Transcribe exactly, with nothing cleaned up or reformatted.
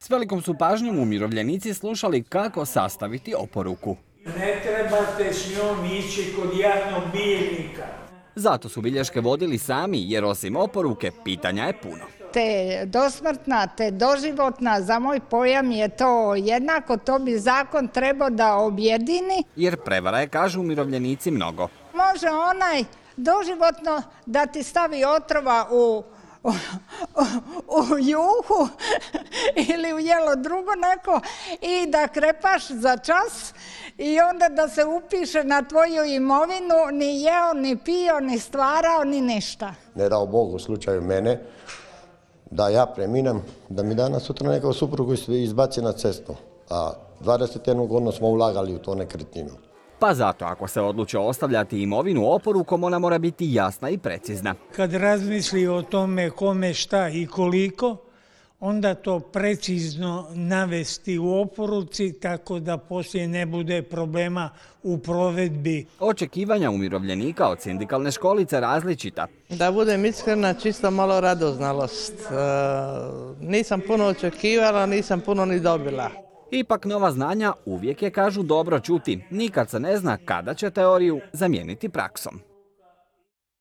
S velikom su pažnjom umirovljenici slušali kako sastaviti oporuku. Ne trebate s njom ići kod javnog bilježnika. Zato su bilješke vodili sami, jer osim oporuke, pitanja je puno. Te dosmrtna, te doživotna, za moj pojam je to jednako, to bi zakon trebao da objedini. Jer prevara je, kažu umirovljenici, mnogo. Može onaj doživotno da ti stavi otrova u, u, u juhu ili u jelo drugo neko i da krepaš za čas i onda da se upiše na tvoju imovinu, ni jeo, ni pio, ni stvarao, ni ništa. Ne dao Bog u slučaju mene, da ja preminem, da mi danas sutra nekog suprugu izbaci na cestu. A dvadeset jednu godinu smo ulagali u to nekretninu. Pa zato, ako se odluče ostavljati imovinu oporukom, ona mora biti jasna i precizna. Kad razmisli o tome kome, šta i koliko, onda to precizno navesti u oporuci tako da poslije ne bude problema u provedbi. Očekivanja umirovljenika od sindikalne školice različita. Da budem iskrena, čisto malo radoznalost. E, nisam puno očekivala, nisam puno ni dobila. Ipak nova znanja uvijek je, kažu, dobro čuti. Nikad se ne zna kada će teoriju zamijeniti praksom.